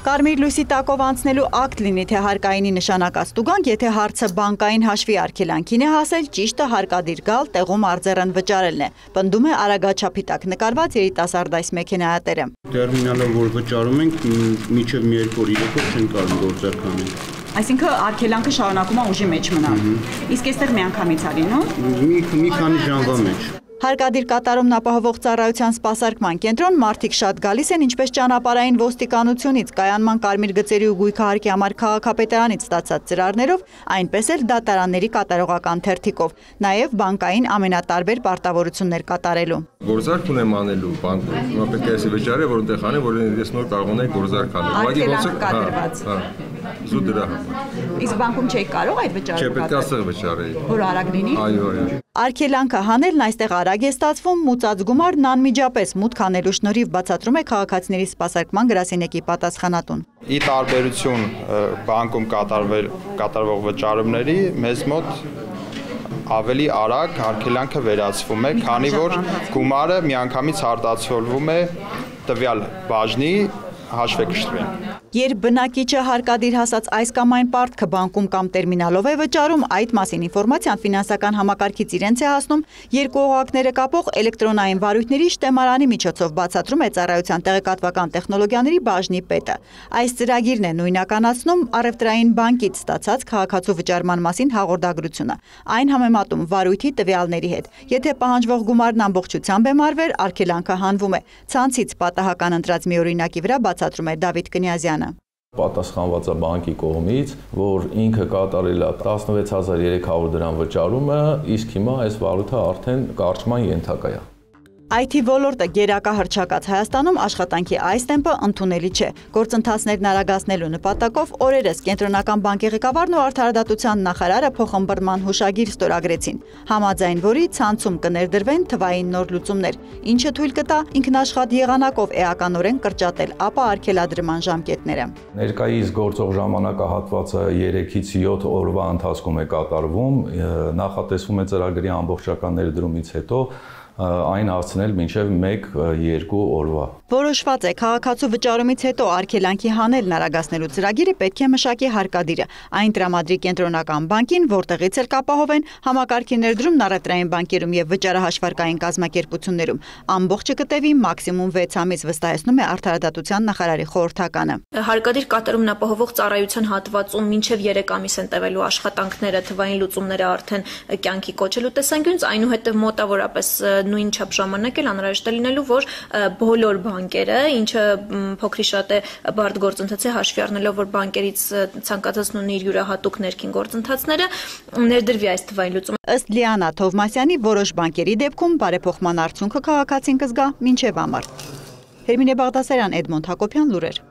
Կարմիր լույսի տակով անցնելու ակտ լինի, թե հարկայինի նշանակած տուգանք, եթե հարցը բանկային հաշվի արգելանքին է հասել, ճիշտը հարկադիր գալ, տեղում արձեռն վճարելն է, պնդում է արագաչափի տակ նկարված երիտասարդ այս մեքենայատերը։ Տերմինալը, որ վճարում ենք, մինչև մի երկու օր իրոք չեն կարող գործարք անել։ Այսինքն արգելանքը շարունակում է ուժի մեջ մնալ։ Իսկ այստեղ միանգամից է լինում։ Մի քանի ժամվա մեջ։ Հարկադիր կատարումն ապահովող ծառայության սպասարկման կենտրոն մարդիկ շատ գալիս են ինչպես ճանապարհային ոստիկանությունից, կայանման կարմիր գծերի ու գույքահարկի համար քաղաքապետարանից ստացած ծրարներով, այնպես էլ դատարանների կատարողական թերթիկով, նաև բանկային ամենատարբեր պարտավորություններ կատարելու։ Գործարք ունեմ անելու բանկում, հիմա պետք է էսի վճարել, որ այնտեղ անեմ, որ ես նոր կարող ունեի գործարք անել։ Արգելանք կատարված։ Զուտ դրա համար։ Իսկ բանկում չէի կարող այդ վճարումը։ Չէ, պետք է ասեղ վճարեի։ Որ արագ լինի։ Այո։ Արգելանքը հանելն այստեղ արագ է ստացվում, մուծած գումարն անմիջապես մուտք անելու շնորհիվ բացատրում է քաղաքացիների սպասարկման գրասենյակի պատասխանատուն։ Ի տարբերություն բանկում կատարվող վճարումների, մեզ մոտ ավելի արագ արգելանքը վերացվում է, քանի որ գումարը միանգամից արտացոլվում է տվյալ բաժնի հաշվեկշռին։ Երբ բնակիչը հարկադիր հասած այս կամ այն պարտքը բանկում կամ տերմինալով է վճարում, այդ մասին ինֆորմացիան ֆինանսական համակարգից իրենց է հասնում երկու օղակները կապող էլեկտրոնային վարույթների շտեմարանի միջոցով, բացատրում է ծառայության տեղեկատվական տեխնոլոգիաների բաժնի պետը։ Այս ծրագիրն է նույնականացնում առևտրային բանկից ստացած քաղաքացու վճարման մասին հաղորդագրությունը։ Այն համեմատում վարույթի տվյալների հետ։ Եթե պահանջվող գումարն ամբողջությամբ է մարվեր, արգելանքը հանվում է։ Ցանցից պատահական ընտրած մի օրինակի վրա բացատրում է Դավիթ Կնյազյանը։ Պատասխանված է բանկի կողմից, որ ինքը կատարել է 16300 դրամ վճարումը, իսկ հիմա այս վարույթը արդեն կարճման ենթակա է։ IT ոլորտը գերակահռչակած Հայաստանում աշխատանքի այս տեմպը ընդունելի չէ։ Գործընթացներն արագացնելու նպատակով օրերս կենտրոնական բանկի ղեկավարն ու արդարադատության նախարարը փոխըմբռնման հուշագիր ստորագրեցին, համաձայն որի ցանցում կներդրվեն թվային նոր լուծումներ, ինչը թույլ կտա ինքնաշխատ եղանակով էականորեն կրճատել ապա արգելադրման ժամկետները։ Ներկայիս գործող ժամանակահատվածը 3-ից 7 օրվա ընթացքում է կատարվում, նախատեսվում է ծրագրի ամբողջական ներդրումից հետո այն հասցնել մինչև 1-2 օրվա։ Որոշված է քաղաքացու վճարումից հետո արգելանքի հանելն արագացնելու ծրագիրը պետք է մշակի հարկադիրը, այն տրամադրի կենտրոնական բանկին, որտեղից էլ կապահովեն համակարգի ներդրումն առևտրային բանկերում եւ վճարահաշվարկային կազմակերպություններում։ Ամբողջը կտևի մաքսիմում 6 ամիս, վստահեցնում է արդարադատության նախարարի խորհրդականը։ Հարկադիր կատարումն ապահովող ծառայության հատվածում մինչև 3 ամիս են տևելու աշխատանքները, թվային լուծումները արդեն կյանքի կոչելու տեսանկյունից, այնուհետև մոտավորապես նույն չափ ժամանակ էլ անհրաժեշտ է լինելու, որ բոլոր բանկերը, ինչը փոքրի շատ է բարդ գործընթաց է հաշվի առնելով, որ բանկերից ցանկացածն ունի իր յուրահատուկ ներքին գործընթացները, ներդրվի այս թվային լուծումը։ Ըստ Լիանա Թովմասյանի, որոշ բանկերի դեպքում բարեփոխման արդյունքը քաղաքացին կզգա մինչև ամառ։ Հերմինե Բաղդասարյան, Էդմոնդ Հակոբյան, լուրեր։